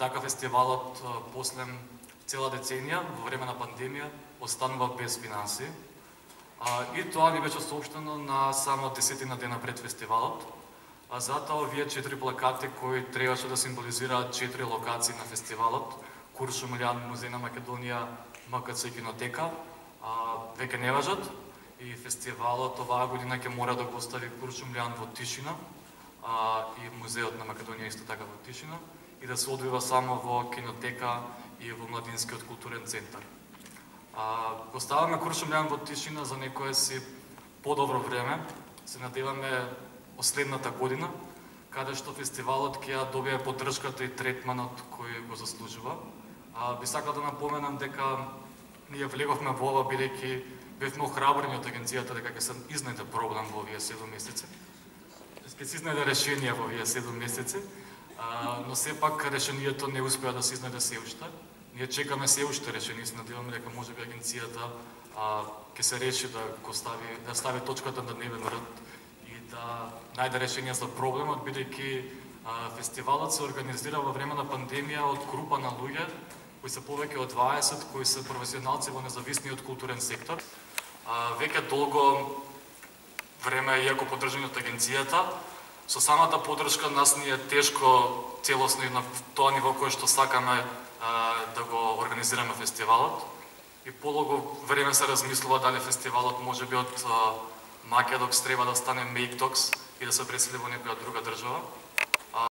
така фестивалот после цела деценија во време на пандемија останува без финанси. И тоа ни беше соопштено на само 10 дена пред фестивалот. Затоа овие 4 плакати кои требаше да символизираат 4 локации на фестивалот, Куршумлијан, Музеј на Македонија, МКЦ и Кинотека, веќе не важат и фестивалот оваа година ќе мора да го остави Куршумлијан во тишина и Музеот на Македонија исто така во тишина и да се одвива само во Кинотека и во Младинскиот културен центар. Го ставаме Куршумлијан во тишина за некое си подобро време. Се надеваме последната година, каде што фестивалот ќе ја добие поддршката и третманот кој го заслужува. Би сакал да напоменам дека ние влеговме во ова бидејќи бевме охрабрени од агенцијата дека ќе се изнајде проблем во овие 7 месеци. Ќе се изнајде решение во овие 7 месеци, но сепак решението не успеа да се изнајде се уште. Ние чекаме се уште решение, се надеваме дека можеби агенцијата ќе се реши да стави точката на дневен ред и да најде решение за проблемот, бидејќи фестивалот се организира во време на пандемија од група на луѓе кои се повеќе од 20, кои се професионалци во независниот културен сектор. Веќе долго време, иако поддржани од агенцијата, со самата поддршка нас ни е тешко целосно и на тоа ниво кое што сакаме да го организираме фестивалот. И полого време се размислува дали фестивалот може би од Македокс треба да стане Мейктокс и да се пресели во некоја друга држава.